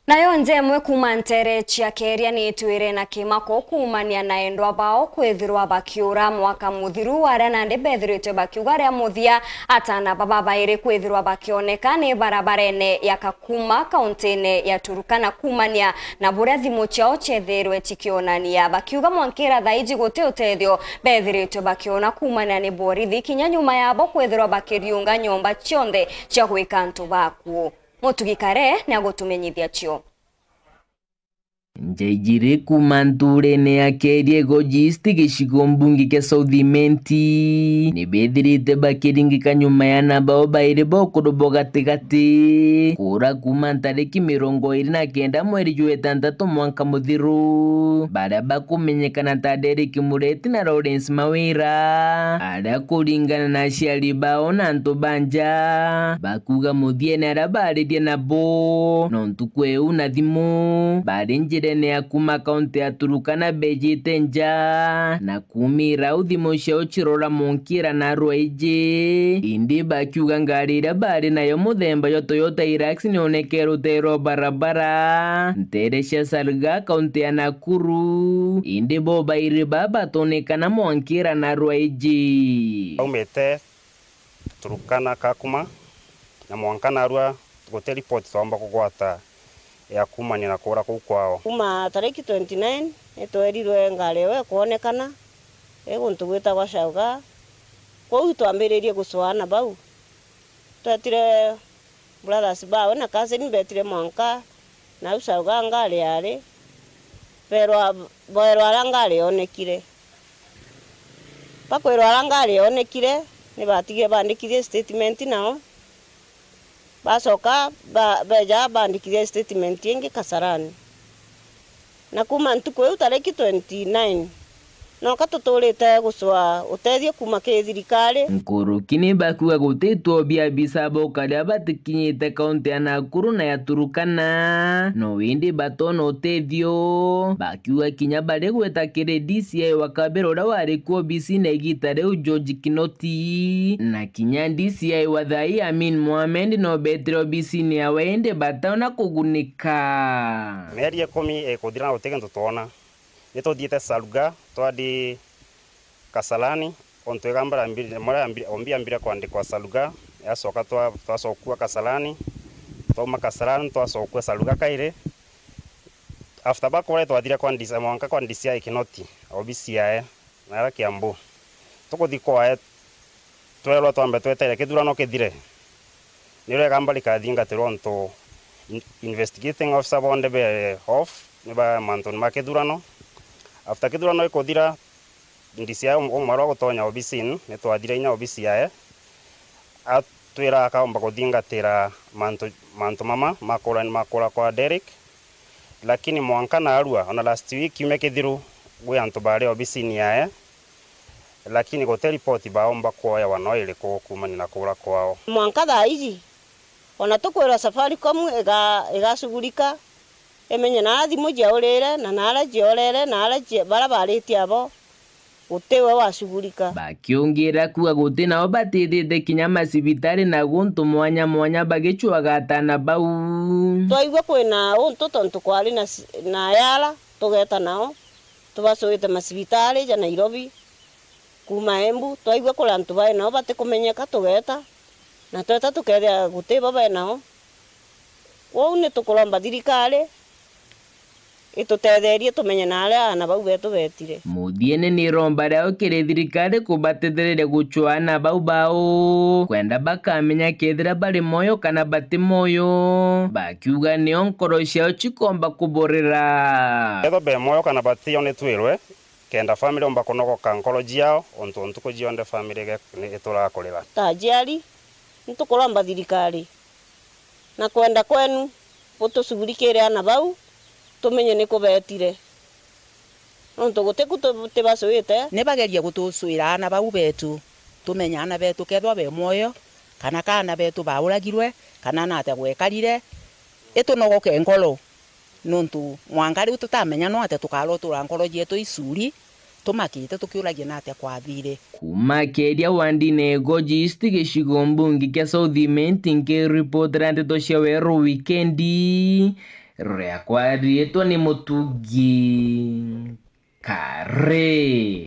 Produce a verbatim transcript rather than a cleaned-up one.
Nayo nja imwe kuuma nteere cia Keeria ni itwire na kimako kuumania na endwa bao kwithirwa bakiura mwaka muthiru, aria nandi bethiritwe bakiuga ria muthia atana baba bairi kwithirwa bakioneka ni barabarene ya Kakuma, kauntine ya Turkana, kuumania na buria thimu ciao ciethirwe cikionania, bakiuga mwankira thaiji guti utethio bethiritwe bakiona kuumania ni borithi, kinya nyuma yabo kwithirwa bakiriunga nyomba cionthe cia gwika antu bakuo. Mutugi Kare ni agutumenyithia cio. Nja ijiri kuuma ntuurene ya Keeria Igoji East, gicigo mbunge kia South Imenti, ni bethirite bakiringika nyuma ya ana bao bairi ba ukuru bwa gatigati kuura kuuma ntariki mirongo iri na kenda mweri jwa itantatu mwanka muthiru, baria bakumenyekana ta Derrick Mureti na Lawrence Mawira, aria kuringana na aciari bao na antu ba nja, bakuuga muthiene aria baaririe nabo, nontu kweu na thimu, baari njirene ya kuuma kaunti ya Turkana beejite nja, na kuumira au thimu ciao cirora munkira na rwaiji. Indi bakiuga ngari iria baari nayo muthemba jwa Toyota Hilux ni yonekere rutere rwa barabara, nteere cia Salga, kaunti ya Nakuru. Indi bo bairi baba batonekana mwankira na rwaiji. Aumite Turkana Kakuma, na mwanka narua guti report twaumba kugwata ya kuumania na kuura kuu kwao. Kuuma tariki twenty nine, itwerirwe ngari iyo ikwonekana i guntu gwitagwa Shauga. Kwou itwambiririe gucwaa na bau. Twetire brothers bawe na cousin, beetire mwanka nau Shauga ngari yaari, beerwa, beerwa aria ngari yoonekire. Bakwirwa aria ngari yoonekire, ni baatigire baandikithie statement nao, bacoka ba-, beeja baandikithia statement ingi Kasarani. Na kuuma ntuku iu tariki twenty nine, noka tutuurite gucwaa utethio kuuma kiri thirikari. Nkuruki ni bakuuga gutitwo biabisa bokaria batikinyite kaunti ya Nakuru na ya Turkana, no indi batoona utethio, bakiuga kinya bari gwita kiri D C I wa kabere uria wari kuo obisine igiita riu, George Kinoti, na kinya D C I wa thaai Amin Mohamed no beetire obisine yawe indi bataona kugunika. Mieri ikumi ikuthira na guti gintu twona. Ni tuthiite Salga, twandi Kasarani, ontu igamba riambire, mura yambi-, ombi yambire kwandikwa Salga, yacoka twa-, twacokua Kasarani, twauma Kasarani, twacokua Salga kairi. After bakore twathire kwa D C I, mwanka kwa D C I Kinoti, obisi yae, naria Kiambu. Tukuthi kwae, twerwa twambe twetere kithurano kithire. Nirio igamba rikathingatirwa ontu in-, investigating officer bonthe be off, ni ba mantuni ma kithurano. After kithurano ikuthira, D C I um-, umwe arwa gutonya obisini, ni twathire inya obisi yae. Atwira akaomba kuthingatira mantu, mantu mama makura, makura kwa Derrick. Lakini mwanka narua, ona last week, kiumia kithiru, gwi antu baari obisini yae, lakini guti ripoti baomba kwoyawa no iriku kuumania na kuura kwao. Mwanka thaa iji, ona tukwirwa Safaricom iga-, igacugurika, imenye naria thimu ciaurire, na naria ciorere, na aria cia-, baria baaritie abo. Guti we wacugurika. Bakiungira kuuga guti nao batithite kinya macibitari na guntu mwanya mwanya bagicwaga atana bau. Twaigua kwina untu tontu kwari na ci-, na ayara, tugeeta nao, tubacuite macibitari ja Nairobi, kuuma Embu, twaigua kuri antu bai nao batikumenyeka, tugeeta, na tweta tukethira guti bo bai nao. Kwou ni tukuromba thirikari itutetherie tumenye naria aana bau betu beetire. Muthiene ni iromba riao kiri thirikari kubatethereria gucwaa aana bau bao, kwenda bakamenya kethira bari mwoyo kana bati mwoyo, bakiuga nio nkoro ciao cikomba kuburira. Kethwa be mwoyo kana batio ni twirwe, kenda family omba kunogoka nkoro ciao, untu ntuku cionthe family ge-, ni ituraga kurira. Ta aciari, ni tukuromba thirikari na kwenda kwenu butucugurikire aana bau, tumenye ni ku beetire. Nontu guti ku tu-, tibacwite. Ni bagerie gutucwira aana bau betu, tumenye aana betu kethwa be mwoyo, kana ka aana betu bauragirwe, kana naatia gwekarire, itunogoke nkoro. Nontu mwanka riu tutamenya no atia tukarotura nkoro cietu icuri, tumakite tukiuragia natia kwathire. Kuuma Keeria wandine Igoji East gicigo mbunge kia South Imenti, nkiripotera ndeto cia Weru Wikendi, Riakwa riitwa ni Mutugi Kari.